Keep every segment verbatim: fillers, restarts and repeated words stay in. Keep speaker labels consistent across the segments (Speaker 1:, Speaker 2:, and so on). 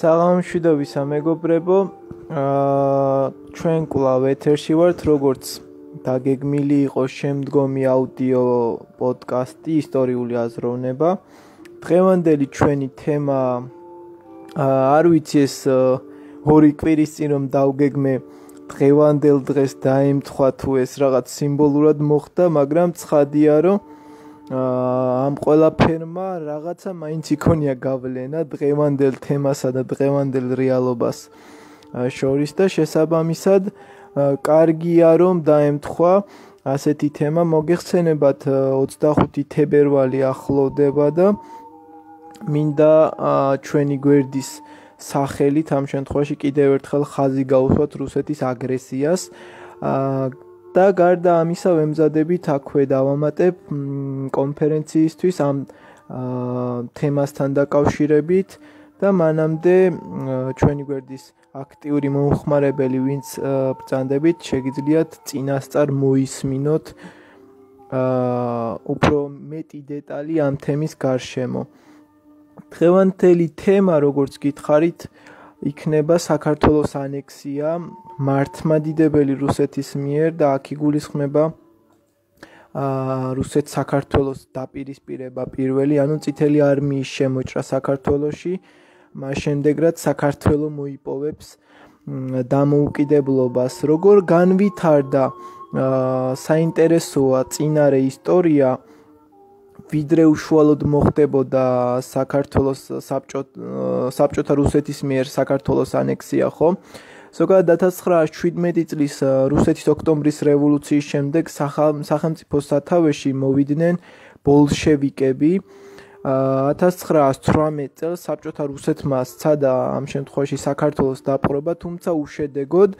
Speaker 1: საღამოშვიდობის მეგობრებო, ჩვენ კვლავ ეთერში ვართ, როგორც დაგეგმილი იყო შემდგომი აუდიო პოდკასტი ისტორიული აზროვნება. დღევანდელი ჩვენი თემა არ ვიცი ეს ორი კვირის წინ რომ დავგეგმე დღევანდელ დღეს დაემთხვა თუ ეს რაღაც სიმბოლურად მოხდა, მაგრამ ცხადია რომ ამ ყველაფერმა რაღაცა მაინც იქონია გავლენა დღევანდელ თემასა და დღევანდელ რეალობას შორის და შესაბამისად კარგია რომ დაემთხვა ასეთი თემა. მოგეხსენებათ ოცდახუთი თებერვალი ახლოვდება და მინდა ჩვენი გვერდის სახელით ამ შემთხვევაში კიდევ ერთხელ ხაზი გაუსვათ რუსეთის აგრესიას და გარდა ამისა ვემზადებით აქვე დავამატებ კონფერენციისთვის ამ თემასთან დაკავშირებით და მანამდე ჩვენი გვერდის აქტიური მომხმარებელი ვინც ბრძანდებით შეგიძლიათ წინასწარ მოისმინოთ უფრო მეტი დეტალი ამ თემის გარშემო. დღევანდელი თემა როგორც გითხარით იქნება საქართველოს ანექსია მართლმადიდებელი რუსეთის მიერ და აქ იგულისხმება რუსეთს საქართველოს დაპირისპირება პირველი, ანუ წითელი არმიის შემოჭრა საქართველოში, მას შემდეგ რაც საქართველო მოიპოვებს დამოუკიდებლობას. როგორ განვითარდა საინტერესოა წინარე ისტორია, ვიდრე უშუალოდ მოხდებოდა საქართველოს საბჭოთა რუსეთის მიერ საქართველოს ანექსია, ხო? ზოგადად ათას ცხრაასი შვიდმეტი წლის რუსეთის ოქტომბრის რევოლუციის შემდეგ სახელმწიფო სათავეში მოვიდნენ ბოლშევიკები. ათას ცხრაასი ცხრამეტ წელს საბჭოთა რუსეთმა სცადა ამ შემთხვევაში საქართველოს დაპყრობა, თუმცა უშედეგოდ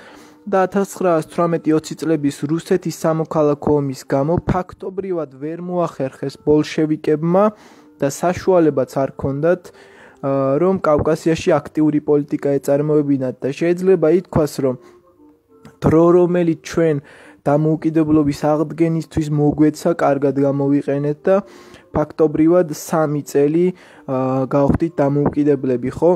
Speaker 1: და ათას ცხრაასი თვრამეტი ოცი წლების რუსეთის სამოქალაქო ომის გამო ფაქტობრივად ვერ მოახერხეს ბოლშევიკებმა და საშუალებაც არ ჰქონდათ რომ კავკასიაში აქტიური პოლიტიკა ეწარმოებინათ და შეიძლება ითქვას რომ დრო რომელიც ჩვენ დამოუკიდებლობის აღდგენისთვის მოგვეცა კარგად გამოვიყენეთ და ფაქტობრივად სამი წელი გავხდით დამოუკიდებლები, ხო?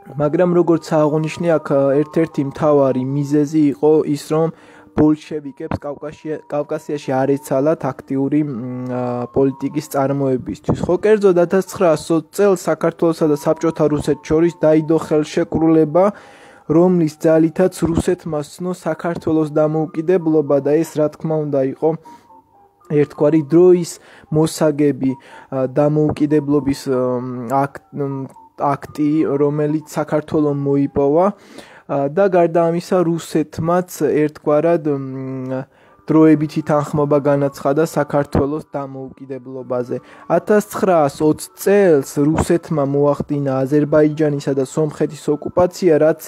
Speaker 1: მაგრამ როგორც აღნიშნე აქ ერთ-ერთი მთავარი მიზეზი იყო ის რომ ბოლშევიკებს კავკასიაში არ ეცალათ აქტიური პოლიტიკის წარმოებისთვის. ხო, კერძოდ ათას ცხრაასი ოცი წელს საქართველოსა და საბჭოთა რუსეთს შორის დაიდო ხელშეკრულება, რომლის ძალითაც რუსეთმა სცნო საქართველოს დამოუკიდებლობა და ეს რა თქმა უნდა იყო ერთგვარი დროის მოსაგები დამოუკიდებლობის აქტი, რომელიც საქართველოს მოიპოვა და გარდა ამისა რუსეთმაც ერთგვარად დროებითი თანხმობა განაცხადა საქართველოს დამოუკიდებლობაზე. ათას ცხრაასი ოცი წელს რუსეთმა მოახდინა აზერბაიჯანისა და სომხეთის ოკუპაცია, რაც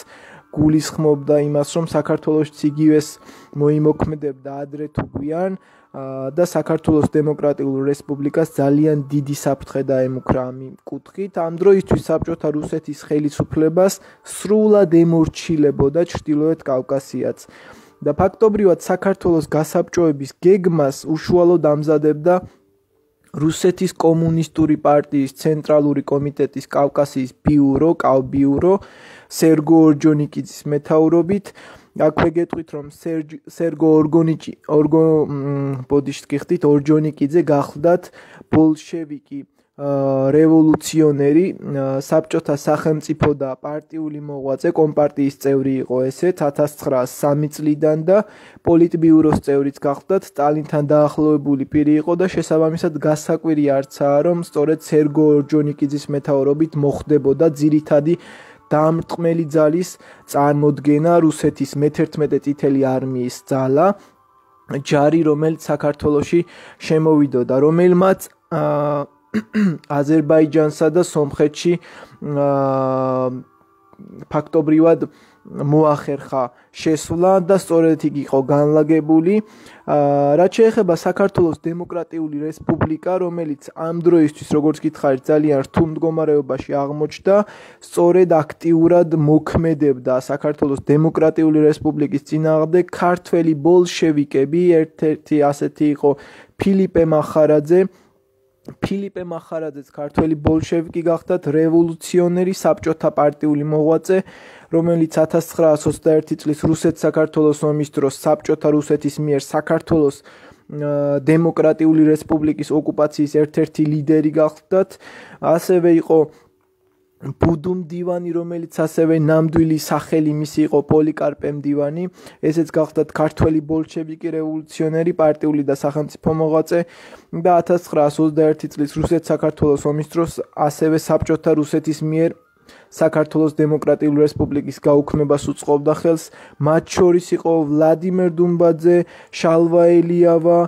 Speaker 1: გულისხმობდა იმას, რომ საქართველოს იგივეს მოიმოქმედებდა ადრე თუ გვიან და საქართველოს დემოკრატიულ რესპუბლიკას ძალიან დიდი საფრთხე დაემუქრა ამ კუთხით. ამ დროისთვის საბჭოთა რუსეთის ხელისუფლებას სრულად ემორჩილებოდა ჩრდილოეთ კავკასიაც და ფაქტობრივად საქართველოს გასაბჭოების გეგმას უშუალოდ ამზადებდა რუსეთის კომუნისტური პარტიის ცენტრალური კომიტეტის კავკასიის ბიურო, კავბიურო, სერგო ორჯონიკიძის მეთაურობით. აქვე გეტყვით რომ სერგო ორგონიჭი ორგო ბოდიშტ გიხდით ორჯონიკიძე გახლდათ ბოლშევიკი რევოლუციონერი, საბჭოთა სახელმწიფო და პარტიული მოღვაწე, კომპარტიის წევრი იყო ესეც ათას ცხრაასი სამი წლიდან და პოლიტბიუროს წევრიც გახლდათ, სტალინთან დაახლოებული პირი იყო და შესაბამისად გასაკვირი არცაა რომ სწორედ სერგო ორჯონიკიძის მეთაურობით მოხდებოდა ძირითადი დამრტყმელი ძალის წარმოდგენა რუსეთის მეთერთმეტე წითელი არმიის ძალა, ჯარი რომელიც საქართველოში შემოვიდოდა, რომელმაც აზერბაიჯანსა და სომხეთში ფაქტობრივად მოახერხა შესვლა და სწორედ იქ იყო განლაგებული. რაც შეეხება საქართველოს დემოკრატიული რესპუბლიკა, რომელიც ამ დროისთვის, როგორც გითხარით, ძალიან რთულ მდგომარეობაში აღმოჩნდა, სწორედ აქტიურად მოქმედებდა საქართველოს დემოკრატიული რესპუბლიკის წინააღმდეგ ქართველი ბოლშევიკები, ერთ-ერთი ასეთი იყო ფილიპე მახარაძე, ფილიპე მახარაძეც ქართველი ბოლშევიკი გახდათ, რევოლუციონერი საბჭოთა პარტიული მოღვაწე, რომელიც ათას ცხრაასი ოცდაერთი წლის რუსეთ-საქართველოს ომის დროს საბჭოთა რუსეთის მიერ საქართველოს დემოკრატიული რესპუბლიკის ოკუპაციის ერთ-ერთი ლიდერი გახდათ, ასევე იყო ბუდუ მდივანი, რომელიც ასევე ნამდვილი სახელი მისი იყო პოლიკარპე მდივანი, ესეც გახდათ ქართველი ბოლშევიკი, რევოლუციონერი, პარტიული და სახელმწიფო მოღვაწე და ათას ცხრაასი ოცდაერთი წლის რუსეთ-საქართველოს ომის დროს ასევე საბჭოთა რუსეთის მიერ საქართველოს დემოკრატიული რესპუბლიკის გაუქმებას უწყობდა ხელს, მათ შორის იყო ვლადიმერ დუმბაძე, შალვა ელიავა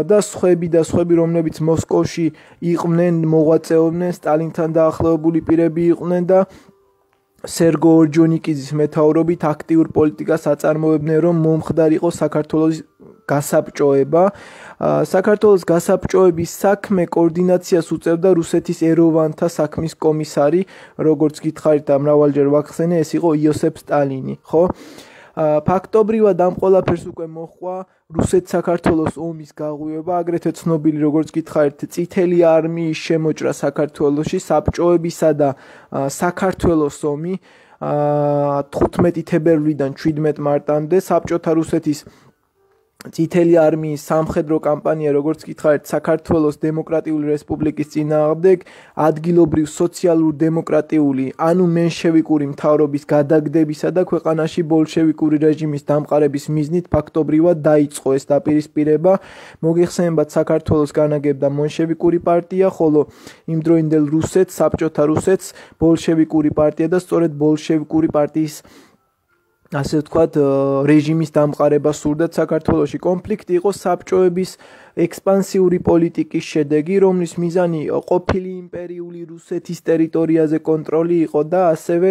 Speaker 1: და სხვები და სხვები, რომლებიც მოსკოვში იყვნენ, მოღვაწეობდნენ, სტალინთან დაახლოებული პირები იყვნენ და სერგო ორჯონიკიძის მეთაურობით აქტიურ პოლიტიკას აწარმოებდნენ, რომ მომხდარიყო საქართველოს გასაბჭოება. საქართველოს გასაბჭოების საქმე კოორდინაციას უწევდა რუსეთის ეროვანთა საქმის კომისარი, როგორც გითხარით და მრავალჯერ ვახსენე, ეს იყო იოსებ სტალინი, ხო? ფაქტობრივად ამ ყველაფერს უკვე მოჰყვა რუსეთ-საქართველოს ომის გაღვივება, აგრეთვე ცნობილი, როგორც გითხარით, წითელი არმიის შემოჭრა საქართველოში, საბჭოებისა და საქართველოს ომი თხუთმეტი თებერვლიდან შვიდმეტ მარტამდე, საბჭოთა რუსეთის წითელი არმიის სამხედრო კამპანია, როგორც გითხარით, საქართველოს დემოკრატიული რესპუბლიკის წინააღმდეგ, ადგილობრივ სოციალურ დემოკრატიული, ანუ მენშევიკური მთავრობის გადაგდებისა და ქვეყანაში ბოლშევიკური რეჟიმის დამყარების მიზნით ფაქტობრივად დაიწყო ეს დაპირისპირება. მოგეხსენებათ, საქართველოს განაგებდა მენშევიკური პარტია, ხოლო იმდროინდელ რუსეთს, საბჭოთა რუსეთს ბოლშევიკური პარტია და სწორედ ბოლშევიკური პარტიის ასე ვთქვათ, რეჟიმის დამყარება სურდათ საქართველოში. კონფლიქტი იყო საბჭოების ექსპანსიური პოლიტიკის შედეგი, რომლის მიზანი ყოფილი იმპერიული რუსეთის ტერიტორიაზე კონტროლი იყო და ასევე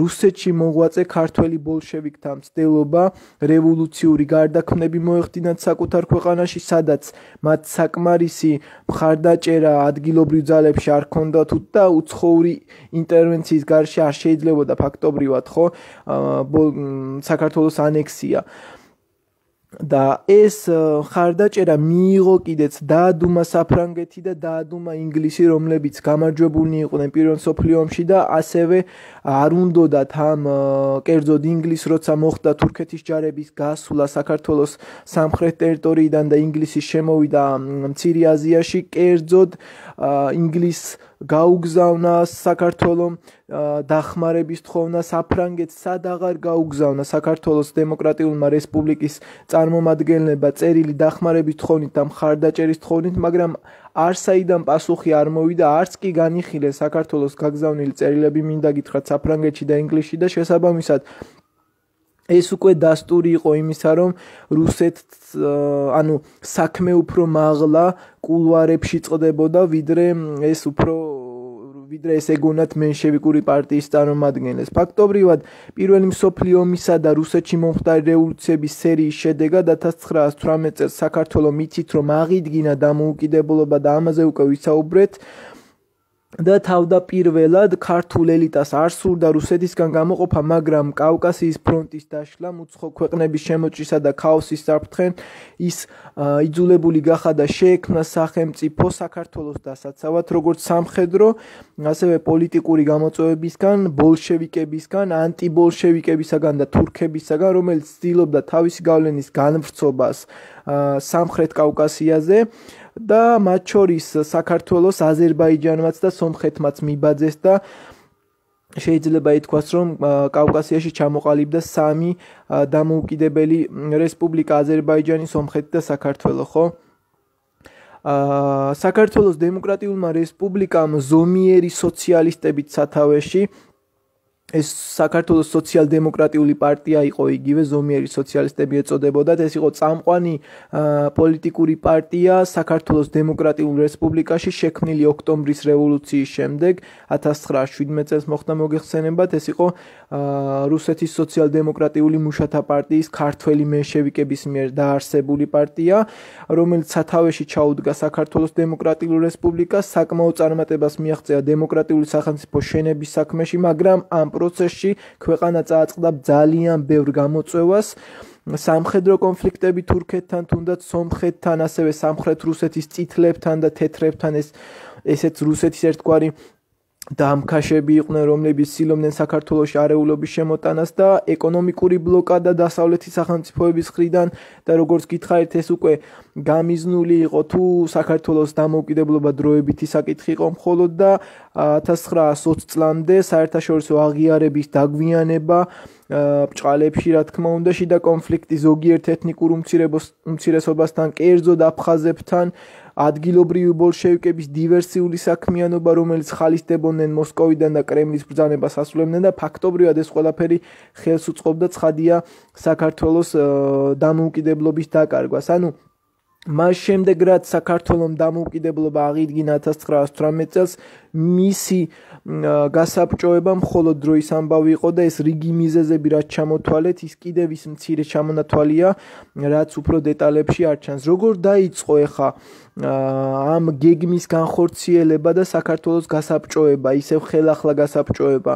Speaker 1: რუსეთში მოღვაწე ქართველი ბოლშევიკთა მცდელობა რევოლუციური გარდაქმნები მოეხდინათ საკუთარ ქვეყანაში, სადაც მათ საკმარისი მხარდაჭერა ადგილობრივ ძალებში არ ჰქონდათ და უცხოური ინტერვენციის გარშე არ შეიძლებოდა ფაქტობრივად, ხო, საქართველოს ანექსია. და ეს მხარდაჭერა მიიღო კიდეც დაადუმა საფრანგეთი და დაადუმა ინგლისი, რომლებიც გამარჯვებულნი იყვნენ პირველ მსოფლიო ომში და ასევე არ უნდოდათ ამ კერძოდ ინგლისს, როცა მოხდა თურქეთის ჯარების გასვლა საქართველოს სამხრეთ ტერიტორიიდან და ინგლისის შემოვიდა მცირე აზიაში, კერძოდ ინგლისს გაუგზავნა საქართველოს დახმარების თხოვნა, საფრანგეთს სად აღარ გაუგზავნა საქართველოს დემოკრატიულმა რესპუბლიკის წარმომადგენლება წერილი დახმარების თხოვნით და მხარდაჭერის თხოვნით, მაგრამ არსაიდან პასუხი არ მოვიდა, არც კი განიხილეს საქართველოს გაგზავნილი წერილები, მინდა გითხრათ, საფრანგეთში და ინგლისში და შესაბამისად ეს უკვე დასტური იყო იმისა, რომ რუსეთს ანუ საქმე უფრო მაღლა კულუარებში წყდებოდა, ვიდრე ეს უფრო ვიდრე ეს ეგონათ მენშევიკური პარტიის წარმომადგენლებს. ფაქტობრივად, პირველი მსოფლიო ომისა და რუსეთში მომხდარი რევოლუციების სერიის შედეგად ათას ცხრაასი თვრამეტ წელს საქართველო მიცით, რომ აღიდგინა დამოუკიდებლობა და ამაზე უკვე ვისაუბრეთ. და თავდაპირველად ქართულ ელიტას არ სურდა რუსეთისგან გამოყოფა, მაგრამ კავკასიის ფრონტის დაშლა, უცხო ქვეყნების შემოჭრისა და ქაოსის საფრთხენ ის იძულებული გახადა და შეექმნა სახელმწიფო საქართველოს დასაცავად, როგორც სამხედრო, ასევე პოლიტიკური გამოწვევებისგან, ბოლშევიკებისგან, ანტიბოლშევიკებისგან და თურქებისგან, რომელიც ცდილობდა თავისი გავლენის განვრცობას სამხრეთ კავკასიაზე და მათ შორის საქართველოს, აზერბაიჯანმაც და სომხეთმაც მიბაძეს და შეიძლება ითქვას, რომ კავკასიაში ჩამოყალიბდა სამი დამოუკიდებელი რესპუბლიკა: აზერბაიჯანი, სომხეთი და საქართველო, ხო? საქართველოს დემოკრატიულმა რესპუბლიკამ ზომიერი სოციალისტებით სათავეში ეს საქართველოს სოციალ-დემოკრატიული პარტია იყო, იგივე ზომიერი სოციალისტები ეწოდებოდათ. ეს იყო წამყვანი პოლიტიკური პარტია საქართველოს დემოკრატიულ რესპუბლიკაში, შექმნილი ოქტომბრის რევოლუციის შემდეგ, ათას ცხრაასი შვიდმეტ წელს მოხდა, მოგეხსენებათ. ეს იყო რუსეთის სოციალ-დემოკრატიული მუშათა პარტიის ქართველი მენშევიკების მიერ დაარსებული პარტია, რომელიც სათავეში ჩაუდგა საქართველოს დემოკრატიულ რესპუბლიკას, საკმაო წარმატებას მიაღწია დემოკრატიული სახელმწიფო შენების საქმეში, მაგრამ ამ პროცესში ქვეყანა წააწყდა ძალიან ბევრ გამოწვევას სამხედრო კონფლიქტები თურქეთთან, თუნდაც სომხეთთან, ასევე სამხრეთ რუსეთის წითლებთან და თეთრებთან ეს ესეც რუსეთის ერთგვარი დამქაშები იყვნენ, რომლებიც ცდილობდნენ საქართველოში არეულობის შემოტანას და ეკონომიკური ბლოკადა დასავლეთის სახელმწიფოების მხრიდან და როგორც გითხარით ეს უკვე გამიზნული იყო თუ საქართველოს დამოუკიდებლობა დროებითი საკითხი იყო მხოლოდ და ათას ცხრაას ოცი წლამდე საერთაშორისო აღიარების დაგვიანება ბჭყალებში რა თქმა უნდა შიდა კონფლიქტი ზოგიერთ ეთნიკურ უმცირესობასთან, კერძოდ აფხაზებთან, ადგილობრივი ბოლშევიკების დივერსიული საქმიანობა, რომელიც ხალისდებოდნენ მოსკოვიდან და კრემლის ბრძანებას ასრულებდნენ და ფაქტობრივად ეს ყველაფერი ხელს უწყობდა ცხადია საქართველოს დამოუკიდებლობის დაკარგვას. ანუ მას შემდეგ რაც საქართველოს დამოუკიდებლობა აღიდგინა ათას ცხრაას ოცდაოთხ წელს მისი გასაბჭოება მხოლოდ დროის ამბავი იყო და ეს რიგი მიზეზები რაც ჩამოთვალეთ ის კიდევ ის მცირე ჩამონათვალია რაც უფრო დეტალებში არ ჩანს. როგორ დაიწყო ეხა ამ გეგმის განხორციელება და საქართველოს გასაბჭოება, ისევ ხელახლა გასაბჭოება.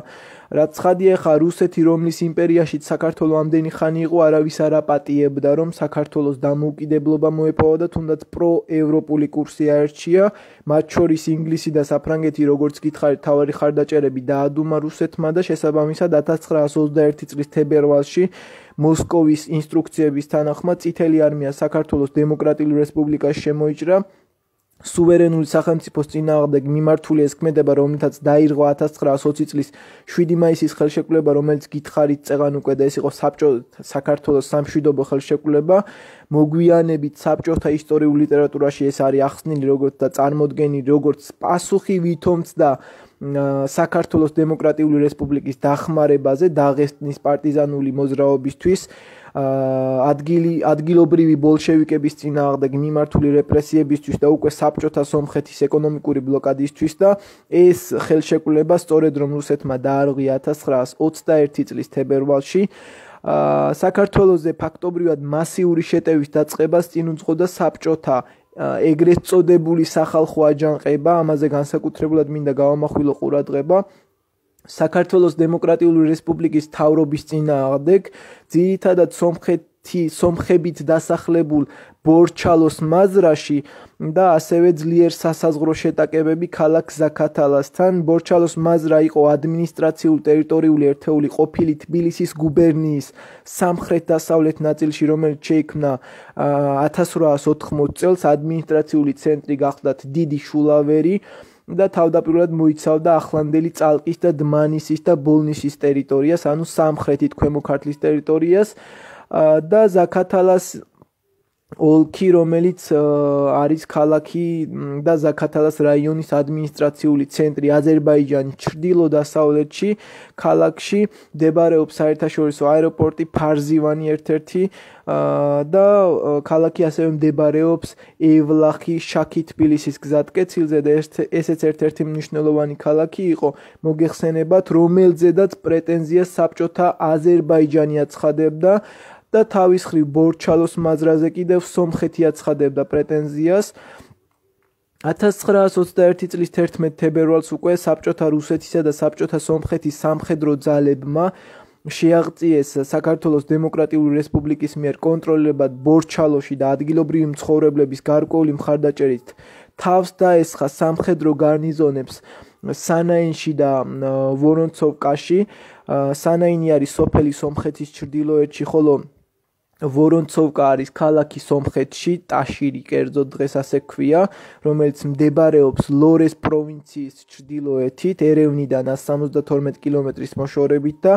Speaker 1: რაც ცხადია ხა რუსეთი რომლის იმპერიაშიც საქართველოს ამდენი ხანი იყო არავის არ აპატიებდა რომ საქართველოს დამოუკიდებლობა მოეპოვა და თუნდაც პროევროპული კურსი აერჩია, მათ შორის ინგლისი და საფრანგეთი როგორც გითხარით თავარი ხარდაჭერები დაადუმა რუსეთმა და შესაბამისად ათას ცხრაას ოცდაერთი წლის თებერვალში მოსკოვის ინსტრუქციების თანახმად წითელი არმია საქართველოს დემოკრატიულ რესპუბლიკაში შემოიჭრა. სუვერენული სახელმწიფოს წინააღმდეგ მიმართული ეს ქმედება, რომლითაც დაირღვა ათას ცხრაას ოცი წლის შვიდი მაისის ხელშეკრულება, რომელიც გითხარით წეღან უკვე და ეს იყო საბჭო საქართველოს სამშვიდობო ხელშეკრულება, მოგვიანებით საბჭოთა ისტორიულ ლიტერატურაში ეს არის ახსნილი როგორც და წარმოდგენილი როგორც პასუხი ვითომცდა საქართველოს დემოკრატიული რესპუბლიკის დახმარებაზე დაღესტნის პარტიზანული მოძრაობისთვის ადგილი ადგილობრივი ბოლშევიკების წინააღმდეგ მიმართული რეპრესიებისთვის და უკვე საბჭოთა სომხეთის ეკონომიკური ბლოკადისთვის და ეს ხელშეკრულება სწორედ რომ რუსეთმა დაარღვია ათას ცხრაას ოცდაერთი წლის თებერვალში საქართველოზე ფაქტობრივად მასიური შეტევის დაწყებას წინ უძღოდა საბჭოთა ეგრეთ წოდებული სახალხო აჯანყება, ამაზე განსაკუთრებულად მინდა გავამახვილო ყურადღება საქართველოს დემოკრატიული რესპუბლიკის მთავრობის წინააღმდეგ, ძირითადად სომხეთი სომხებით დასახლებულ ბორჩალოს მაზრაში და ასევე ძლიერ სასაზღვრო შეტაკებები ქალაქ ზაქათალასთან. ბორჩალოს მაზრა იყო ადმინისტრაციულ ტერიტორიული ერთეული ყოფილი თბილისის გუბერნიის სამხრეთ-დასავლეთ ნაწილში, რომელიც შეიქმნა ათას სროას ოთხმოცი წელს, ადმინისტრაციული ცენტრი გახლდათ დიდი შულავერი და თავდაპირველად მოიცავდა ახლანდელი წალკის და დმანისის და ბოლნისის ტერიტორიას, ანუ სამხრეთით ქვემო ქართლის ტერიტორიას და ზაქათალას ოლქი, რომელიც არის ქალაქი და ზაქათალას რაიონის ადმინისტრაციული ცენტრი აზერბაიჯანის ჩრდილო-დასავლეთში, ქალაქში მდებარეობს საერთაშორისო აეროპორტი ფარზივანი ერთ-ერთი და ქალაქი ასევე მდებარეობს ევლახი შაქი თბილისის გზატკეცილზე და ესეც ერთ-ერთი მნიშვნელოვანი ქალაქი იყო, მოგეხსენებათ, რომელზედაც პრეტენზიას საბჭოთა აზერბაიჯანი აცხადებდა და თავის მხრივ ბორჩალოს მაზრაზე კიდევ სომხეთი აცხადებდა პრეტენზიას. ათას ცხრაას ოცდაერთი წლის თერთმეტ თებერვალს უკვე საბჭოთა რუსეთისა და საბჭოთა სომხეთის სამხედრო ძალებმა შეაღწიეს საქართველოს დემოკრატიული რესპუბლიკის მიერ კონტროლირებად ბორჩალოში და ადგილობრივი მცხოვრებლების გარკვეული მხარდაჭერით თავს დაესხა სამხედრო გარნიზონებს სანაინში და ვორონცოვკაში. სანაინი არის სოფელი სომხეთის ჩრდილოეთში, ხოლო ვორონცოვკა არის ქალაქი სომხეთში, ტაშირი კერძოდ დღეს ასე ქვია, რომელიც მდებარეობს ლორეს პროვინციის ჩრდილოეთით, ერევნიდან სამოცდათორმეტი კილომეტრის მოშორებით და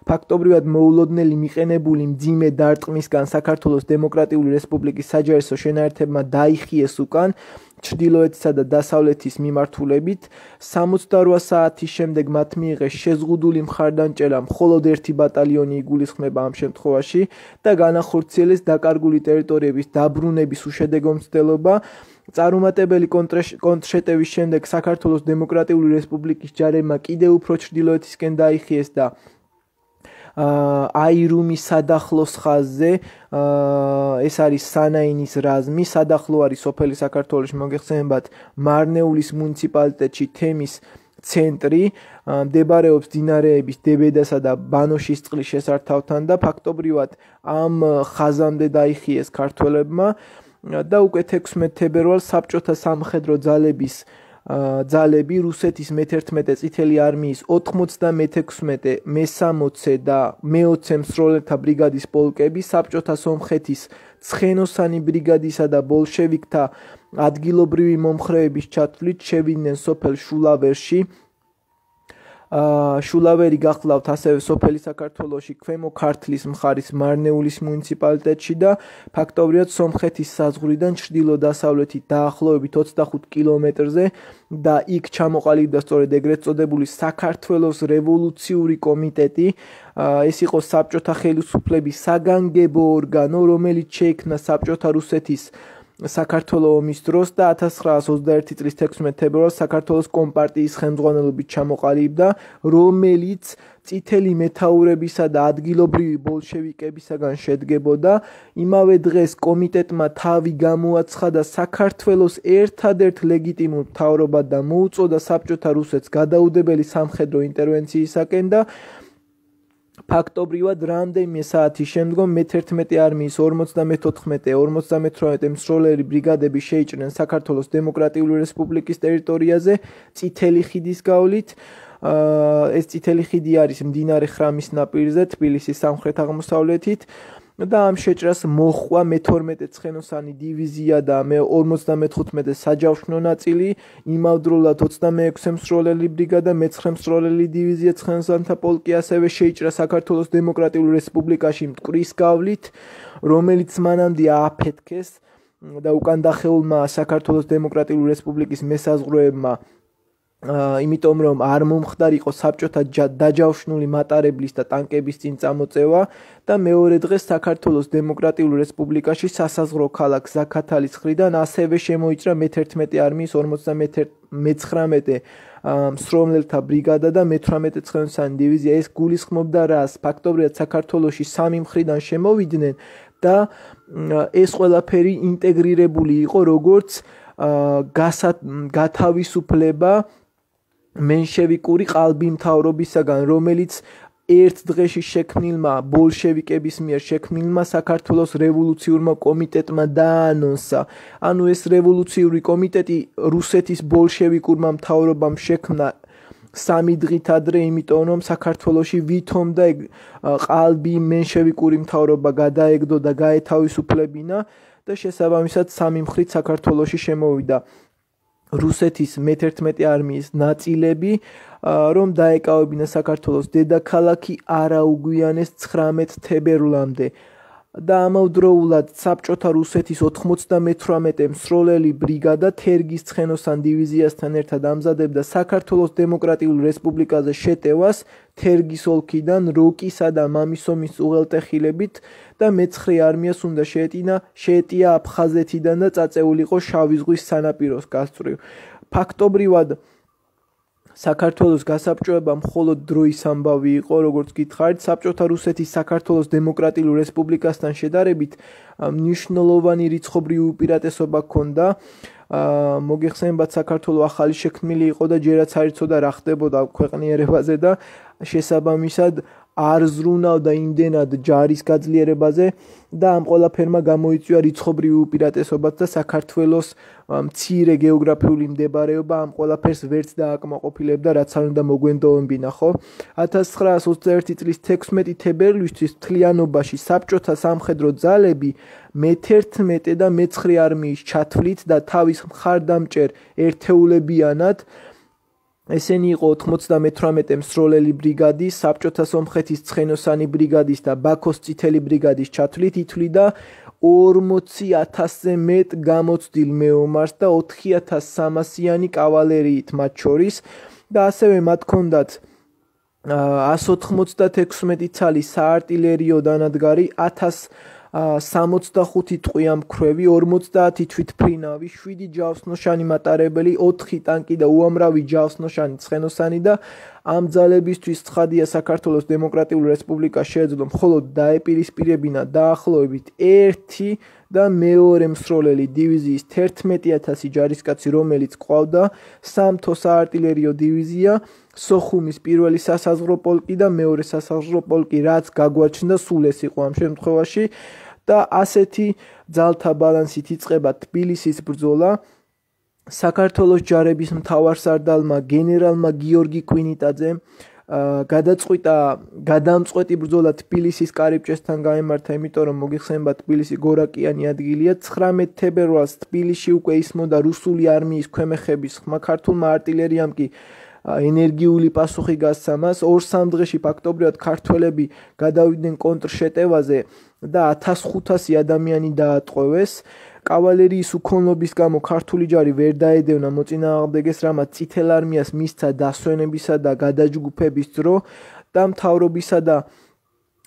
Speaker 1: ფაქტობრივად მოულოდნელი მიყენებული მძიმე დარტყმისგან საქართველოს დემოკრატიული რესპუბლიკის საჯარისო შენაერთებმა დაიხიეს უკან ჩრდილოეთისა და დასავლეთის მიმართულებით. სამოცდარვა საათის შემდეგ მათ მიიღეს შეზღუდული მხარდანჭერა, მხოლოდ ერთი ბატალიონი იგულისხმება ამ შემთხვევაში და განახორციელეს დაკარგული ტერიტორიების დაბრუნების უშედეგო მცდელობა. წარუმატებელი კონტრშეტევის შემდეგ საქართველოს დემოკრატიული რესპუბლიკის ჯარებმა კიდევ უფრო ჩრდილოეთისკენ დაიხიეს და აირუმის სადახლოს ხაზზე, ეს არის სანაინის რაზმი, სადახლო არის სოფელი საქართველოში, მოგეხსენებათ, მარნეულის მუნიციპალიტეტში, თემის ცენტრი, მდებარეობს მდინარეების დებედასა და ბანოშისწყლის შესართავთან და ფაქტობრივად ამ ხაზამდე დაიხიეს ქართველებმა და უკვე თექვსმეტ თებერვალს საბჭოთა სამხედრო ძალების ძალები რუსეთის მეთერთმეტე წითელი არმიის ოთხმოცდამეთექვსმეტე, მესამოცე და მეოცე მსროლელთა ბრიგადის პოლკები საბჭოთა სომხეთის ცხენოსანი ბრიგადისა და ბოლშევიკთა ადგილობრივი მომხრეების ჩათვლით შევიდნენ სოფელ შულავერში. შულავერი გახლავთ ასევე სოფელი საქართველოში ქვემო ქართლის მხარის მარნეულის მუნიციპალიტეტში და ფაქტობრივად სომხეთის საზღვრიდან ჩრდილო-დასავლეთით დაახლოებით ოცდახუთ კილომეტრზე და იქ ჩამოყალიბდა სწორედ ეგრეთ წოდებული საქართველოს რევოლუციური კომიტეტი. ეს იყო საბჭოთა ხელისუფლების საგანგებო ორგანო, რომელიც შეიქმნა საბჭოთა რუსეთის საქართველოს ომის დროს და ათას ცხრაას ოცდაერთი წლის თექვსმეტ თებერვალს საქართველოს კომპარტიის ხელმძღვანელობით ჩამოყალიბდა, რომელიც წითელი მეთაურებისა და ადგილობრივი ბოლშევიკებისაგან შედგებოდა. იმავე დღეს კომიტეტმა თავი გამოაცხადა საქართველოს ერთადერთ ლეგიტიმურ მთავრობად და მოუწოდა საბჭოთა რუსეთს გადაუდებელი სამხედრო ინტერვენციისაკენ და ფაქტობრივად რამდენიმე საათის შემდგომ მეთერთმეტე არმიის ორმოცდამეთოთხმეტე ორმოცდამეთვრამეტე მსროლელი ბრიგადები შეიჭრნენ საქართველოს დემოკრატიული რესპუბლიკის ტერიტორიაზე წითელი ხიდის გავლით. ეს წითელი ხიდი არის მდინარე ხრამის ნაპირზე, თბილისის სამხრეთ-აღმოსავლეთით და ამ შეჭრას მოჰყვა მეთორმეტე ცხენოსანი დივიზია და ორმოცდამეთხუთმეტე საჯავშნო ნაწილი, იმავდროულად ოცდამეექვსე მსროლელი ბრიგადა, მეცხრე მსროლელი დივიზია ცხენოსანთა პოლკი ასევე შეიჭრა საქართველოს დემოკრატიულ რესპუბლიკაში მტკვრის გავლით, რომელიც მანამდე ააფეთქეს და უკან დახეულმა საქართველოს დემოკრატიული რესპუბლიკის მესაზღვრეებმა იმიტომ რომ არ მომხდარიყო საბჭოთა დაჯავშნული მატარებლის და ტანკების წინ წამოწევა და მეორე დღეს საქართველოს დემოკრატიულ რესპუბლიკაში სასაზღვრო ქალაქ ზაქათალის მხრიდან ასევე შემოიჭრა მეთერთმეტე არმიის ორმოცდამეცხრამეტე მსროლელთა ბრიგადა და მეთვრამეტე ცხენოსანი დივიზია. ეს გულისხმობდა რას? ფაქტობრივად საქართველოში სამი მხრიდან შემოვიდნენ და ეს ყველაფერი ინტეგრირებული იყო როგორც გათავისუფლება მენშევიკური ყალბი მთავრობისაგან, რომელიც ერთ დღეში შექმნილმა ბოლშევიკების მიერ შექმნილმა საქართველოს რევოლუციურმა კომიტეტმა დაანონსა. ანუ ეს რევოლუციური კომიტეტი რუსეთის ბოლშევიკურმა მთავრობამ შექმნა სამი დღით ადრე, იმიტომ რომ საქართველოში ვითომ და ყალბი მენშევიკური მთავრობა გადაეგდო და გაეთავისუფლებინა და შესაბამისად სამი მხრით საქართველოში შემოვიდა რუსეთის მეთერთმეტე არმიის ნაწილები, რომ დაეკავებინა საქართველოს დედაქალაქი არაუგვიანეს ცხრამეტ თებერვლამდე და ამავდროულად საბჭოთა რუსეთის ოთხმოცდამეთვრამეტე მსროლელი ბრიგადა თერგის ცხენოსან დივიზიასთან ერთად ამზადებდა საქართველოს დემოკრატიულ რესპუბლიკაზე შეტევას თერგის ოლქიდან როკისა და მამისომის უღელტეხილებით და მეცხრე არმიას უნდა შეეტინა შეეტია აფხაზეთიდან და წაწეულიყო შავი ზღვის სანაპიროს გასწვრივ. ფაქტობრივად საქართველოს გასაბჭოება მხოლოდ დროის ამბავი იყო, როგორც გითხარით, საბჭოთა რუსეთის საქართველოს დემოკრატიულ რესპუბლიკასთან შედარებით მნიშვნელოვანი რიცხობრივი უპირატესობა ჰქონდა. მოგეხსენებათ, საქართველოს ახალი შექმნილი იყო და ჯერაც არ იცოდა რა ხდებოდა ქვეყნიერებაზე და შესაბამისად არ ზრუნავდა იმდენად ჯარის გაძლიერებაზე და ამ ყველაფერმა გამოიწვია რიცხობრივი უპირატესობაც და საქართველოს მცირე გეოგრაფიული მდებარეობა ამ ყველაფერს ვერც დააკმაყოფილებდა, რაც არ უნდა მოგვენდოებინა, ხო? ათას ცხრაას ოცდაერთი წლის თექვსმეტი თებერვლისთვის მთლიანობაში საბჭოთა სამხედრო ძალები მეთერთმეტე და მეცხრე არმიის ჩათვლით და თავის მხარდამჭერ ერთეულებიანად ესენი იყო ოთხმოცდამეთვრამეტე მსროლელი ბრიგადის, საბჭოთა სომხეთის ცხენოსანი ბრიგადის და ბაქოს წითელი ბრიგადის ჩათვლით ითვლიდა ორმოცი ათასზე მეტ გამოცდილ მეომარს და ოთხი ათას სამასიანი კავალერიით მათ შორის და ასევე მათ ჰქონდათ ას ოთხმოცდათექვსმეტი ცალი საარტილერიო დანადგარი, ათას სამოცდახუთი ტყვიამქვრივი, ორმოცდაათი თვითმფრინავი, შვიდი ჯავსნოშანი მატარებელი, ოთხი ტანკი და უამრავი ჯავსნოშანი ცხენოსანი და ამ ძალებისთვის ცხადია საქართველოს დემოკრატიული რესპუბლიკა შეეძლო მხოლოდ დაეპირისპირებინა დაახლოებით ერთი და მეორე მსროლელი დივიზიის თერთმეტი ათასი ჯარისკაცი, რომელიც ყავდა სამთო საარტილერიო დივიზია, სოხუმის პირველი სასაზღვრო პოლკი და მეორე სასაზღვრო პოლკი, რაც გაგვაჩნდა სულ ეს იყო ამ შემთხვევაში და ასეთი ძალთა ბალანსით იწყება თბილისის ბრძოლა. საქართველოს ჯარების მთავარსარდალმა გენერალმა გიორგი კვინიტაძემ გადაწყვიტა გადამწყვეტი ბრძოლა თბილისის კარიბჭესთან გაემართა, იმიტომ რომ მოგიხსენებათ თბილისი გორაკიანი ადგილია. ცხრამეტ თებერვალს თბილისში უკვე ისმოდა რუსული არმიის ქვემეხების ხმა, ქართულმა არტილერიამ კი ენერგიული პასუხი გასცა მას. ორ-სამ დღეში ფაქტობრივად ქართველები გადავიდნენ კონტრშეტევაზე და ათას ხუთასი ადამიანი დაატყვევეს. კავალერიის უქონლობის გამო ქართული ჯარი ვერ დაედევნა მოწინააღმდეგეს, რამაც წითელ არმიას მისცა დასვენებისა და გადაჯგუფების დრო და მთავრობისა და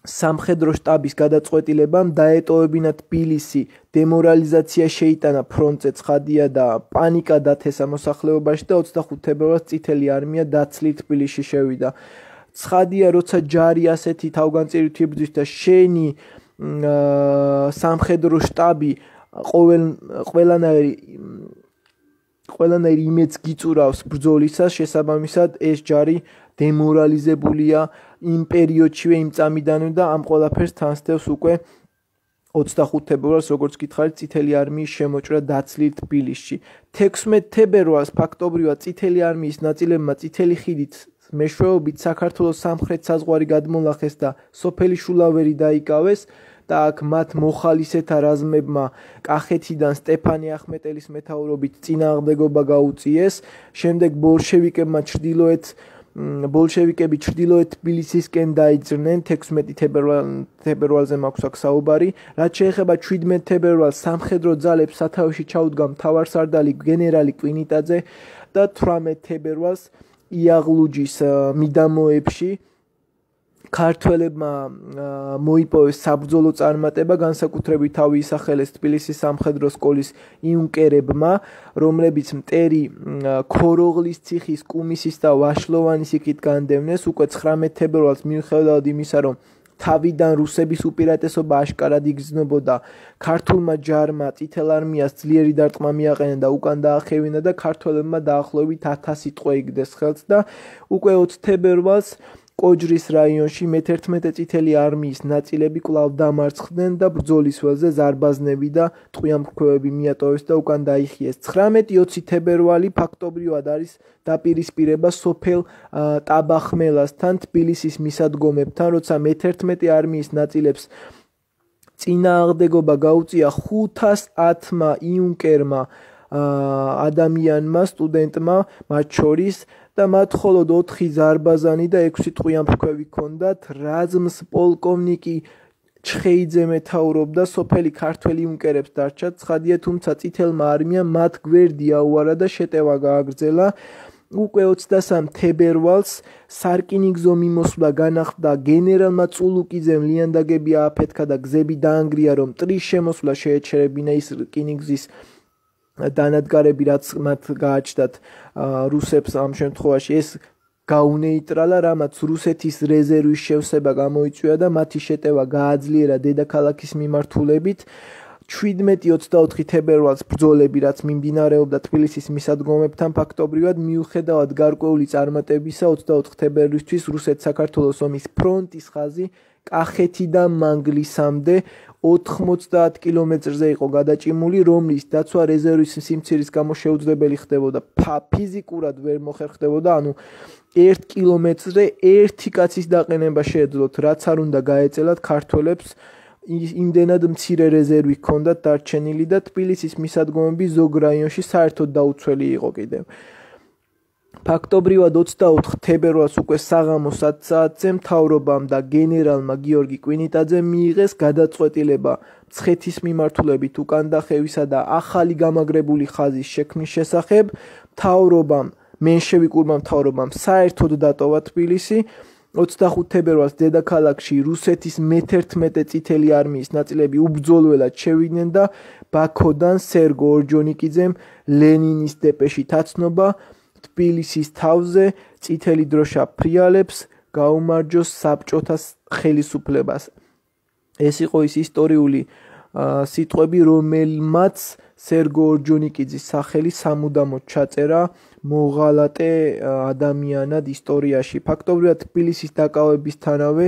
Speaker 1: სამხედრო შტაბის გადაწყვეტილებამ დაეტოვებინა თბილისი. დემორალიზაცია შეიტანა ფრონტზე, ცხადია და პანიკა დათესა მოსახლეობაში და ოცდახუთ თებერვალს წითელი არმია დაცლით თბილისში შევიდა. ცხადია, როცა ჯარი ასეთი თავგანწირით იბრძვის და შენი სამხედრო შტაბი ყოველ ყველანაირი ყველანაირი იმედს გიწურავს ბრძოლისას, შესაბამისად ეს ჯარი დემორალიზებულია იმ პერიოდშივე, იმ წამიდანვე და ამ ყველაფერს თანსდევს უკვე ოცდახუთ თებერვალს, როგორც გითხარით, წითელი არმიის შემოჭრა დაცლით თბილისში. თექვსმეტ თებერვალს ფაქტობრივად წითელი არმიის ნაწილებმა წითელი ხიდით მეშვეობით საქართველოს სამხრეთ საზღვარი გადმოლახეს და სოფელი შულავერი დაიკავეს და აქ მათ მოხალისეთა რაზმებმა კახეთიდან სტეფანე ახმეტელის მეთაურობით წინააღმდეგობა გაუწიეს. შემდეგ ბოლშევიკებმა ჩრდილოეთ ბოლშევიკები ჩრდილოეთ თბილისისკენ დაიძრნენ. თექვსმეტი თებერვალზე მაქვს აქ საუბარი. რაც შეეხება შვიდმეტ თებერვალს, სამხედრო ძალებს სათავეში ჩაუდგა მთავარსარდალი გენერალი კვინიტაძე და თვრამეტ თებერვალს იაღლუჯის მიდამოებში ქართველებმა მოიპოვეს საბრძოლო წარმატება, განსაკუთრებით თავი ისახელეს თბილისის სამხედრო სკოლის იუნკერებმა, რომლებიც მტერი ქოროღლის ციხის, კუმისის და ვაშლოვანის იქით განდევნეს. უკვე ცხრამეტ თებერვალს მიუხედავად იმისა, რომ თავიდან რუსების უპირატესობა აშკარად იგრძნობოდა, ქართულმა ჯარმა წითელ არმიას ძლიერი დარტყმა მიაყენა და უკან დაახევინა და ქართველებმა დაახლოებით ათასი ტყვე იგდეს ხელს და უკვე ოცი თებერვალს კოჯრის რაიონში მეთერთმეტე წითელი არმიის ნაწილები კვლავ დამარცხდნენ და ბრძოლის ველზე ზარბაზნები და ტყვიამფრქვევები მიატოვეს და უკან დაიხიეს. ცხრამეტი ოცი თებერვალი ფაქტობრივად არის დაპირისპირება სოფელ ტაბახმელასთან, თბილისის მისადგომებთან, როცა მეთერთმეტე არმიის ნაწილებს წინააღმდეგობა გაუწია ხუთას ათმა იუნკერმა ადამიანმა, სტუდენტმა მათ შორის და მათ მხოლოდ ოთხი ზარბაზანი და ექვსი ტყვიამფრქვევი ჰქონდათ. რაზმს პოლკოვნიკი ჩხეიძე მეთაურობდა, სოფელი ქართველი იუნკერებს დარჩა. ცხადია, თუმცა წითელმა არმიამ მათ გვერდი აუარა და შეტევა გააგრძელა. უკვე ოცდასამ თებერვალს სარკინიგზო მიმოსვლა განახლდა, გენერალმა წულუკიძემ ლიანდაგები ააფეთქა და გზები დაანგრია, რომ მტრის შემოსვლა შეეჩერებინა ის რკინიგზის დანადგარები, რაც მათ გააჩნდათ რუსებს ამ შემთხვევაში ეს გაუნეიტრალა, რამაც რუსეთის რეზერვის შევსება გამოიწვია და მათი შეტევა გააძლიერა დედაქალაქის მიმართულებით. შვიდმეტი ოცდაოთხი თებერვალს ბრძოლები, რაც მიმდინარეობდა თბილისის მისადგომებთან, ფაქტობრივად მიუხედავად გარკვეული წარმატებისა, ოცდაოთხ თებერვლისთვის რუსეთ-საქართველოს ომის ფრონტის ხაზი კახეთიდან მანგლისამდე ოთხმოცდაათ კილომეტრზე იყო გადაჭიმული, რომლის დაცვა რეზერვის სიმცირის გამო შეუძლებელი ხდებოდა. ფიზიკურად ვერ მოხერხდებოდა, ანუ ერთ კილომეტრზე ერთი კაცის დაყენება შეეძლოთ, რაც არ უნდა გაეწელათ ქართველებს. იმდენად მცირე რეზერვი ჰქონდათ დარჩენილი და თბილისის მისადგომები ზოგ რაიონში საერთოდ დაუცველი იყო კიდევ. ფაქტობრივად ოცდაოთხ თებერვალს უკვე საღამოს ათ საათზე მთავრობამ და გენერალმა გიორგი კვინიტაძემ მიიღეს გადაწყვეტილება მცხეთის მიმართულებით უკან დახევისა და ახალი გამაგრებული ხაზის შექმნის შესახებ. მთავრობამ, მენშევიკურმა მთავრობამ საერთოდ დატოვა თბილისი. ოცდახუთ თებერვალს დედაქალაქში რუსეთის მეთერთმეტე წითელი არმიის ნაწილები უბრძოლველად შევიდნენ და ბაქოდან სერგო ორჯონიკიძემ ლენინის დეპეშით აცნობა თბილისის თავზე წითელი დროშა ფრიალებს გაუმარჯოს საბჭოთა ხელისუფლებას. ეს იყო ის ისტორიული სიტყვები, რომელმაც სერგო ორჯონიკიძის სახელი სამუდამოდ ჩაწერა მოღალატე ადამიანად ისტორიაში. ფაქტობრივად თბილისის დაკავებისთანავე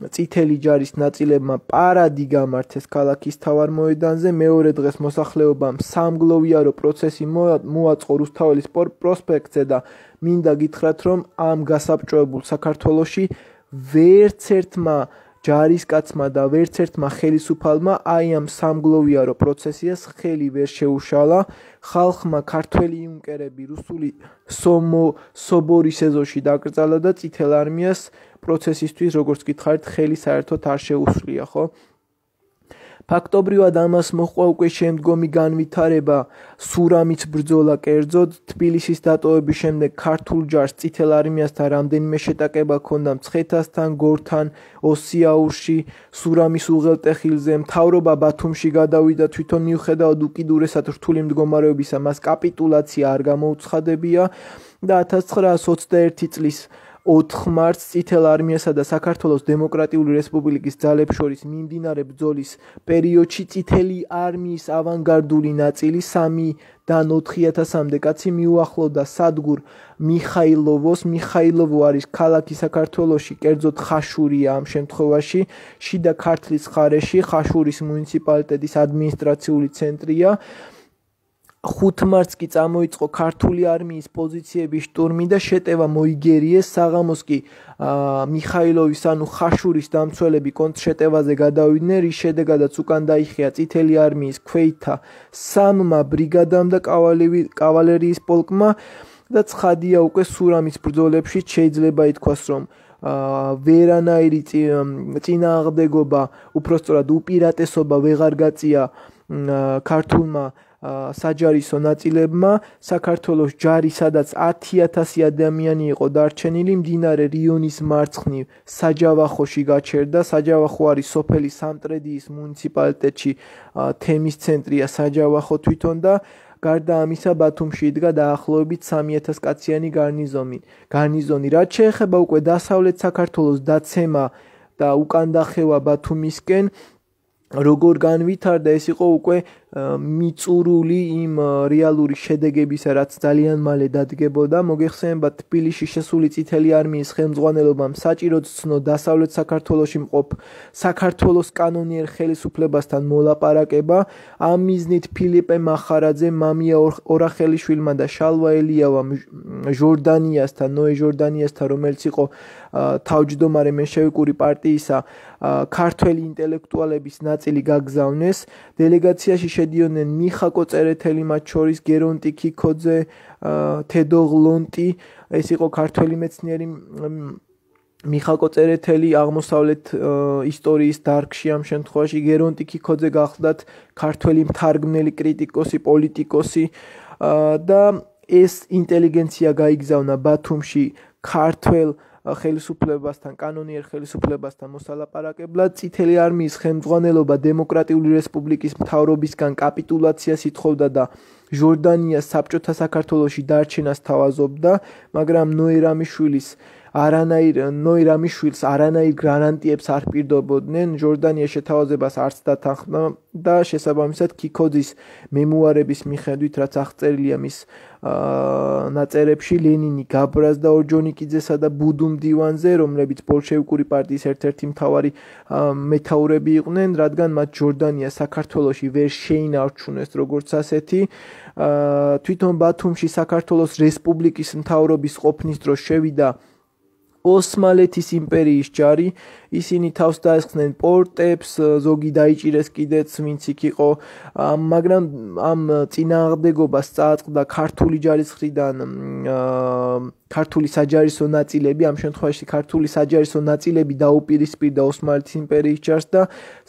Speaker 1: წითელი ჯარის ნაწილებმა პარადი გამართეს ქალაქის მთავარ მოედანზე. მეორე დღეს მოსახლეობამ სამგლოვიარო პროცესი მოაწყო რუსთაველის პროსპექტზე და მინდა გითხრათ, რომ ამ გასაბჭოებულ საქართველოში ვერც ერთმა ჯარისკაცმა და ვერც ერთმა ხელისუფალმა აი ამ სამგლოვიარო პროცესიას ხელი ვერ შეუშალა. ხალხმა ქართველი იუნკერები რუსული სობორის ეზოში დაკრძალა და წითელ არმიას პროცესისთვის, როგორც გითხარით, ხელი საერთოდ არ შეუსვლია, ხო? ფაქტობრივად ამას მოჰყვა უკვე შემდგომი განვითარება, სურამის ბრძოლა კერძოდ. თბილისის დატოვების შემდეგ ქართულ ჯარს წითელ არმიასთან რამდენიმე შეტაკება ჰქონდა მცხეთასთან, გორთან, ოსიაურში, სურამის უღელტეხილზე. მთავრობა ბათუმში გადავიდა, თვითონ მიუხედავად უკიდურესად რთული მდგომარეობისა, მას კაპიტულაცია არ გამოუცხადებია და ათას ცხრაასი ოცდაერთი წლის ოთხ მარტს წითელ არმიასა და საქართველოს დემოკრატიული რესპუბლიკის ძალებს შორის მიმდინარე ბრძოლის პერიოდში წითელი არმიის ავანგარდული ნაწილი სამიდან ოთხი ათასამდე კაცი მიუახლოვდა სადგურ მიხაილოვოს. მიხაილოვო არის ქალაქი საქართველოში, კერძოდ ხაშურია ამ შემთხვევაში, შიდა ქართლის მხარეში, ხაშურის მუნიციპალიტეტის ადმინისტრაციული ცენტრია. ხუთ მარტს კი წამოიწყო ქართული არმიის პოზიციების შტურმი და შეტევა მოიგერიეს. საღამოს კი მიხაილოვის ანუ ხაშურის დამცველები კონტრშეტევაზე გადავიდნენ, რის შედეგადაც უკან დაიხია წითელი არმიის ქვეითთა სამმა ბრიგადამ და კავალერიის პოლკმა და ცხადია უკვე სურამის ბრძოლებში შეიძლება ითქვას, რომ ვერანაირი წინააღმდეგობა, უпростоრად უპირატესობა ვეღარ გაწია ქართულმა საჯარისო ნაწილებმა. საქართველოს ჯარი, სადაც ათი ათასი ადამიანი იყო დარჩენილი, მდინარე რიონის მარცხნივ საჯავახოში გაჩერდა. საჯავახო არის სოფელი სამტრედიის მუნიციპალიტეტში, თემის ცენტრია საჯავახო თვითონ და გარდა ამისა ბათუმში იდგა დაახლოებით სამი ათას კაციანი გარნიზონი. გარნიზონი რაც შეეხება უკვე დასავლეთ საქართველოს დაცემა და უკან დახევა ბათუმისკენ, როგორ განვითარდა, ეს იყო უკვე მიწურული იმ რეალური შედეგებისა, რაც ძალიან მალე დადგებოდა. მოგეხსენებათ, თბილისში შესული წითელი არმიის ხელმძღვანელობამ საჭიროდ ცნო დასავლეთ საქართველოში მყოფ საქართველოს კანონიერ ხელისუფლებასთან მოლაპარაკება. ამ მიზნით ფილიპე მახარაძე, მამია ორახელიშვილმა და შალვა ელიავამ ჟორდანიასთან, ნოე ჟორდანიასთან, რომელიც იყო თავმჯდომარე მენშევიკური პარტიისა, ქართველი ინტელექტუალების ნაწილი გაგზავნეს. დელეგაციაში შედიოდნენ მიხა კოწერეთელი, მათ შორის გერონტი ქიქოძე, თედო ღლონტი, ეს იყო ქართველი მეცნიერი მიხა კოწერეთელი აღმოსავლეთ ისტორიის დარგში. ამ შემთხვევაში გერონტი ქიქოძე გახლდათ ქართველი მთარგმნელი, კრიტიკოსი, პოლიტიკოსი და ეს ინტელიგენცია გაიგზავნა ბათუმში ქართველ ხელისუფლებასთან, კანონიერ ხელისუფლებასთან მოსალაპარაკებლად. წითელი არმიის ხელმძღვანელობა დემოკრატიული რესპუბლიკის მთავრობისგან კაპიტულაციას ითხოვდა და ჟორდანიას საბჭოთა საქართველოში დარჩენას თავაზობდა, მაგრამ ნოე რამიშვილის არანაირ ნოე რამიშვილს არანაირ გარანტიებს არ პირდობოდნენ. ჟორდანიას შეთავაზებას არც დათანხმდა და შესაბამისად ქიქოძის მემუარების მიხედვით, რაც აღწერილია მის ნაწერებში, ლენინი გაბრაზდა ორჯონიკიძესა და ბუდუმ დივანზე, რომლებიც ბოლშევიკური პარტიის ერთ-ერთი მთავარი მეთაურები იყვნენ, რადგან მათ ჟორდანია საქართველოში ვერ შეინარჩუნეს როგორც ასეთი. თვითონ ბათუმში საქართველოს რესპუბლიკის მთავრობის ყოფნის დროს შევიდა ოსმალეთის იმპერიის ჯარი. ისინი თავს დაესხნენ პორტებს, ზოგი დაიჭირეს კიდეც, ვინც იქ იყო, მაგრამ ამ წინააღმდეგობას წააწყდა ქართული ჯარის მხრიდან ქართული საჯარისო ნაწილები. ამ შემთხვევაში ქართული საჯარისო ნაწილები დაუპირისპირდა ოსმალეთის იმპერიის ჯარს და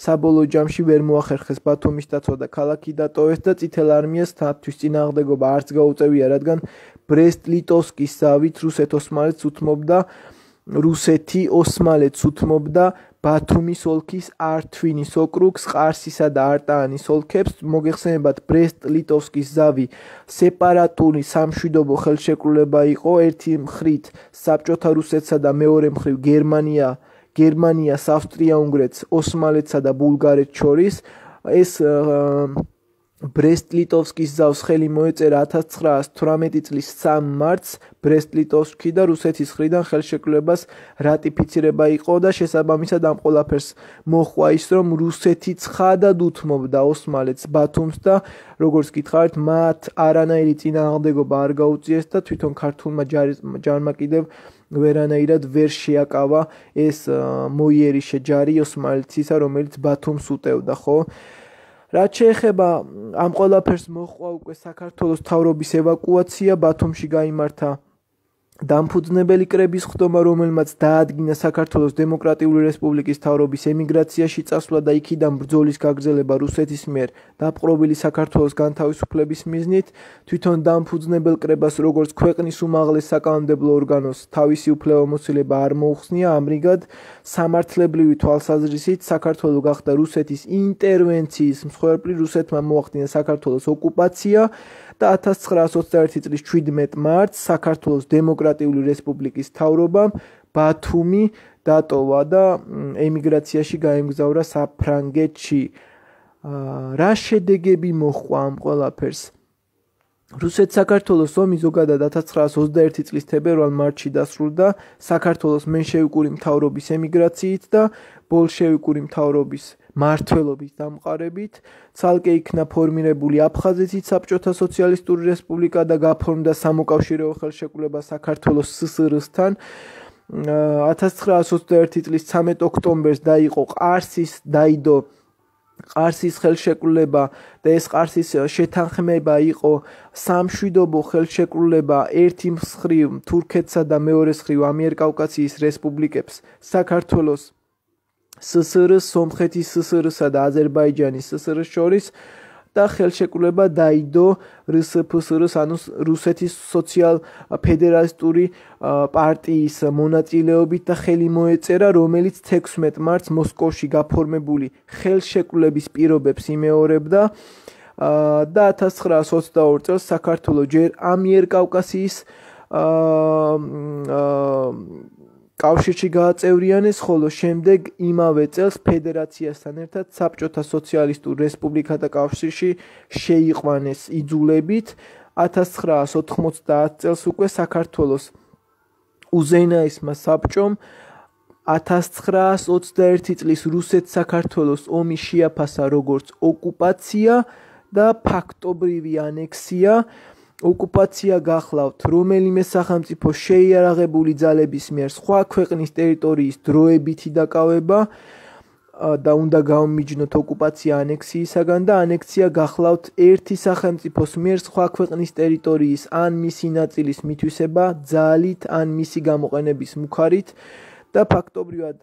Speaker 1: საბოლოო ჯამში ვერ მოახერხეს ბათუმის დაცვა და ქალაქი დატოვეს და წითელ არმიას თათთვის წინააღმდეგობა არც გაუწევია, რადგან ბრესტ-ლიტოვსკის ზავით რუსეთ-ოსმალეთს უთმობდა რუსეთი ოსმალეთს უთმობდა ბათუმის ოლქის ართვინის ოკრუგს, ყარსისა და არტაანის ოლქებს. მოგეხსენებათ, ბრესტ-ლიტოვსკის ზავი სეპარატული სამშვიდობო ხელშეკრულება იყო, ერთი მხრით საბჭოთა რუსეთსა და მეორე მხრივ გერმანია, გერმანიას, ავსტრია-უნგრეთს, ოსმალეთსა და ბულგარეთს შორის. ეს ბრესტ-ლიტოვსკის ზავს ხელი მოეწერა ათას ცხრაას თვრამეტი წლის სამი მარტს ბრესტ-ლიტოვსკი და რუსეთის მხრიდან ხელშეკრულებას რატიფიცირება იყო და შესაბამისად ამ ყველაფერს მოჰყვა ის, რომ რუსეთი ცხადად უთმობდა ოსმალეთს, ბათუმს და როგორც გითხარით, მათ არანაირი წინააღმდეგობა არ გაუწიეს და თვითონ ქართულმა ჯარმა კიდევ ვერანაირად ვერ შეაკავა ეს მოიერიშე ჯარი ოსმალეთისა, რომელიც ბათუმს უტევდა, ხო? რაც შეეხება ამ ყველაფერს მოჰყვა უკვე საქართველოს მთავრობის ევაკუაცია, ბათუმში გაიმართა დამფუძნებელი კრების ხდომა, რომელმაც დაადგინა საქართველოს დემოკრატიული რესპუბლიკის მთავრობის ემიგრაციაში წასვლა და იქიდან ბრძოლის გაგრძელება რუსეთის მიერ დაპყრობილი საქართველოს განთავისუფლების მიზნით. თვითონ დამფუძნებელ კრებას, როგორც ქვეყნის უმაღლეს საკანონმდებლო ორგანოს, თავისი უფლებამოსილება არ მოუხსნია, ამრიგად სამართლებრივი თვალსაზრისით საქართველო გახდა რუსეთის ინტერვენციის მსხვერპლი, რუსეთმა მოახდინა საქართველოს ოკუპაცია და ათას ცხრაას ოცდაერთი წლის შვიდმეტი მარტს საქართველოს დემოკრატიული რესპუბლიკის მთავრობამ ბათუმი დატოვა და ემიგრაციაში გაემგზავრა საფრანგეთში. რა შედეგები მოჰყვა ამ ყველაფერს? რუსეთ-საქართველოს ომი ზოგადად ათას ცხრაას ოცდაერთი წლის თებერვალ-მარტში დასრულდა საქართველოს მენშევიკური მთავრობის ემიგრაციით და ბოლშევიკური მთავრობის მმართველობის დამყარებით. ცალკე იქნა ფორმირებული აფხაზეთის საბჭოთა სოციალისტური რესპუბლიკა და გაფორმდა სამოკავშირეო ხელშეკრულება საქართველოს სსრ-სთან. ათას ცხრაას ოცდაერთი წლის ცამეტ ოქტომბერს დაიყო ყარსის დაიდო ყარსის ხელშეკრულება და ეს ყარსის შეთანხმება იყო სამშვიდობო ხელშეკრულება ერთი მხრივ თურქეთსა და მეორე მხრივ ამიერკავკასიის რესპუბლიკებს საქართველოს სსრ-ს, სომხეთის სსრ-სა და აზერბაიჯანის სსრ-ს შორის და ხელშეკრულება დაიდო რსფსრ-ს, ანუ რუსეთის სოციალ-ფედერალისტური პარტიის მონაწილეობით და ხელი მოეწერა, რომელიც თექვსმეტ მარტს მოსკოვში გაფორმებული ხელშეკრულების პირობებს იმეორებდა და ათას ცხრაას ოცდაორი წელს საქართველო ჯერ ამიერკავკასიის კავშირში გააწევრიანეს, ხოლო შემდეგ იმავე წელს ფედერაციასთან ერთად საბჭოთა სოციალისტურ რესპუბლიკათა კავშირში შეიყვანეს იძულებით. ათას ცხრაას ოთხმოცდაათ წელს უკვე საქართველოს უზენაესმა საბჭომ ათას ცხრაას ოცდაერთი წლის რუსეთ-საქართველოს ომი შეაფასა როგორც ოკუპაცია და ფაქტობრივი ანექსია. ოკუპაცია გახლავთ რომელიმე სახელმწიფო შეიარაღებული ძალების მიერ სხვა ქვეყნის ტერიტორიის დროებითი დაკავება და უნდა გამომიჯნოთ ოკუპაცია ანექსიისაგან და ანექსია გახლავთ ერთი სახელმწიფოს მიერ სხვა ქვეყნის ტერიტორიის ან მისი ნაწილის მითვისება ძალით ან მისი გამოყენების მუხარით და ფაქტობრივად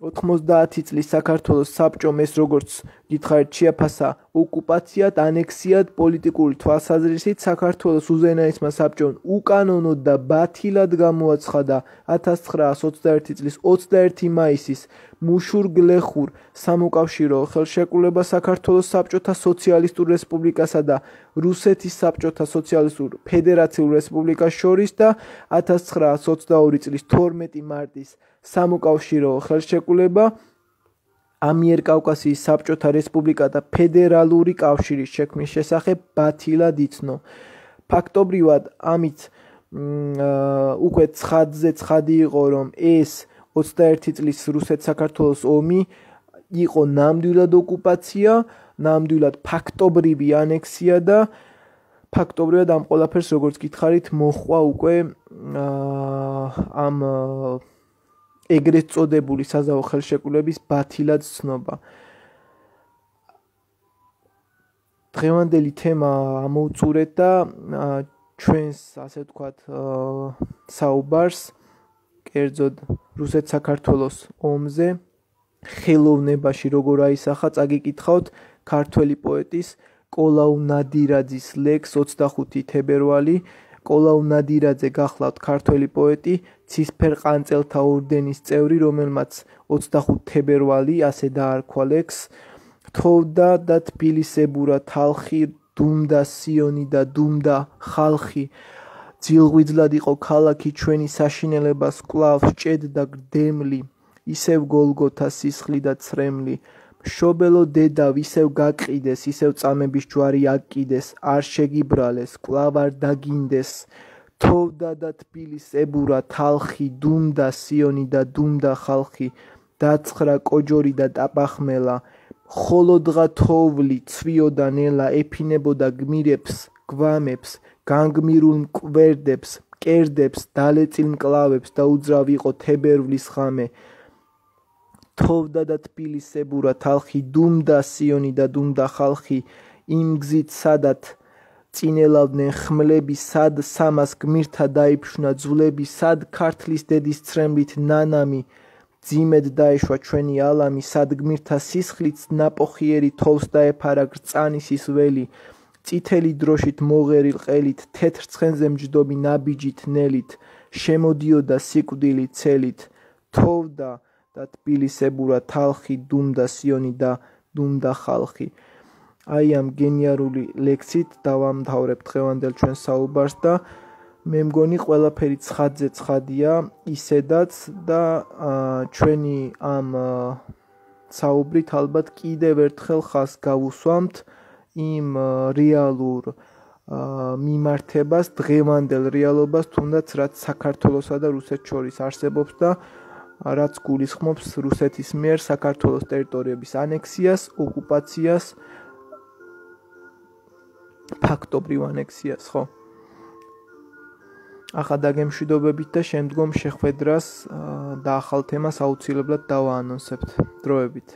Speaker 1: ოთხმოცდაათი წლის საქართველოს საბჭომ ეს როგორც გითხარით შეაფასა ოკუპაციად, ანექსიად, პოლიტიკური თვალსაზრისით საქართველოს უზენაესმა საბჭომ უკანონოდ და ბათილად გამოაცხადა ათას ცხრაას ოცდაერთი წლის ოცდაერთი მაისის მუშურ-გლეხურ სამოკავშირეო ხელშეკრულება საქართველოს საბჭოთა სოციალისტურ რესპუბლიკასა და რუსეთის საბჭოთა სოციალისტურ ფედერაციულ რესპუბლიკას შორის და ათას ცხრაას ოცდაორი წლის თორმეტი მარტის სამოკავშირეო ხელშეკრულება ამიერკავკასიის საბჭოთა რესპუბლიკათა ფედერალური კავშირის შექმნის შესახებ ბათილად იცნო. ფაქტობრივად ამით უკვე ცხადზე ცხადი იყო, რომ ეს ოცდაერთი წლის რუსეთ-საქართველოს ომი იყო ნამდვილად ოკუპაცია, ნამდვილად ფაქტობრივი ანექსია და ფაქტობრივად ამ ყველაფერს როგორც გითხარით მოჰყვა უკვე ამ ეგრეთ წოდებული საზავო ხელშეკრულების ბათილად ცნობა. დღევანდელი თემა ამოვწურეთ და ჩვენს ასე ვთქვათ საუბარს კერძოდ რუსეთ-საქართველოს ომზე ხელოვნებაში როგორ აისახა წაგიკითხავთ ქართველი პოეტის კოლაუ ნადირაძის ლექს ოცდახუთი თებერვალი. კოლაუ ნადირაძე გახლავთ ქართველი პოეტი, ცისფერ ყანწელთა ორდენის წევრი, რომელმაც ოცდახუთი თებერვალი ასე დაარქვა ლექს. თოვდა და თბილისებურა თალხი, დუმდა სიონი და დუმდა ხალხი. ძილღვიძლად იყო ქალაქი ჩვენი საშინელებას კვლავ სჭედდა გრდემლი, ისევ გოლგოთა სისხლი და ცრემლი. მშობელო დედავ ისევ გაყიდეს, ისევ წამების ჯვარი აკიდეს, არ შეგიბრალეს, კვლავ არ დაგინდეს. თოვდა და თბილისებურა თალხი, დუმდა სიონი და დუმდა ხალხი. დაცხრა კოჯორი და ტაბახმელა, ხოლოდღა თოვლი ცვიოდა ნელა, ეფინებოდა გმირებს, გვამებს, განგმირულ მკვერდებს, მკერდებს, დალეწილ მკლავებს და უძრავ იყო თებერვლის ღამე. თოვდა და თბილისებურა თალხი, დუმდა სიონი და დუმდა ხალხი. იმ გზით სადაც წინელავდნენ ხმლები, სად სამას გმირთა დაიფშნა ძვლები, სად ქართლის დედის ცრემლით ნანამი ძიმედ დაეშვა ჩვენი ალამი, სად გმირთა სისხლით ნაპოხიერი თოვს დაეფარა გრწანისის ველი. წითელი დროშით მოღერილ ყელით, თეთრ ცხენზე მჯდომი ნაბიჯით ნელით, შემოდიოდა სიკვდილი ცელით. თოვდა და თბილისებურა თალხი, დუმდა სიონი და დუმდა ხალხი. აი ამ გენიალური ლექსით დავამთავრებ დღევანდელ ჩვენ საუბარს და მე მგონი ყველაფერი ცხადზე ცხადია ისედაც და ჩვენი ამ საუბრით ალბათ კიდევ ერთხელ ხაზს გავუსვამთ იმ რეალურ მიმართებას, დღევანდელ რეალობას, თუნდაც რაც საქართველოსა და რუსეთს შორის არსებობს და რაც გულისხმობს რუსეთის მიერ საქართველოს ტერიტორიების ანექსიას, ოკუპაციას, ფაქტობრივ ანექსიას, ხო? ახლა დაგემშვიდობებით და შემდგომ შეხვედრას და ახალ თემას აუცილებლად დავაანონსებთ. დროებით.